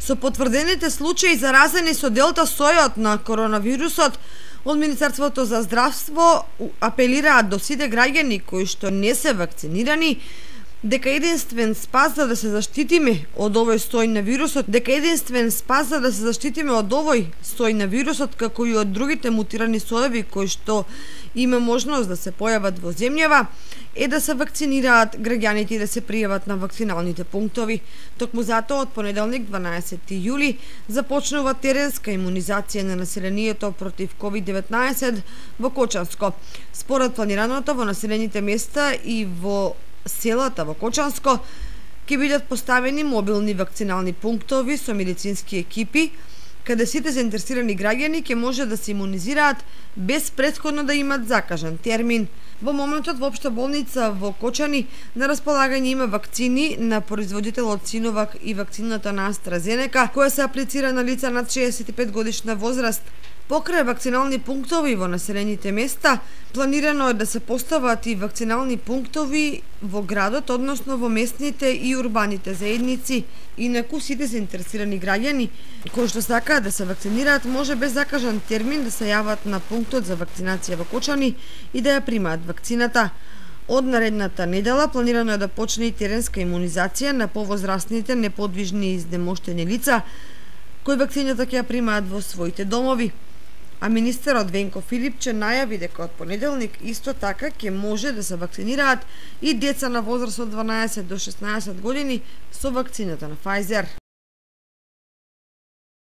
Со потврдените случаи заразени со делта сојот на коронавирусот, од Министерството за здравство апелираат до сите граѓани кои што не се вакцинирани дека единствен спас за да се заштитиме од овој сој на вирусот, како и од другите мутирани соеви кои што има можност да се појават во земјава, е да се вакцинираат граѓаните и да се пријават на вакциналните пунктови. Токму затоа од понеделник 12 јули започнува теренска имунизација на населението против COVID-19 во Кочанско. Според планираното во населените места и во селата во Кочанско ќе бидат поставени мобилни вакцинални пунктови со медицински екипи, каде сите заинтересирани граѓани ќе може да се имунизираат без претходно да имат закажан термин. Во моментот во општа болница во Кочани на располагање има вакцини на производителот Синовак и вакцината на AstraZeneca, која се аплицира на лица над 65 годишна возраст. Покрај вакцинални пунктови во населените места, планирано е да се постават и вакцинални пунктови во градот, односно во местните и урбаните заедници. Инаку сите заинтересирани граѓани кои што сакаат да се вакцинираат може без закажан термин да се јават на пунктот за вакцинација во Кочани и да ја примаат вакцината. Од наредната недела планирано е да почне и теренска имунизација на повозрастните, неподвижни и изнемоштени лица кои вакцината ќе ја примаат во своите домови. А министерот Венко Филипче најави дека од понеделник исто така ќе може да се вакцинираат и деца на возраст од 12 до 16 години со вакцината на Pfizer.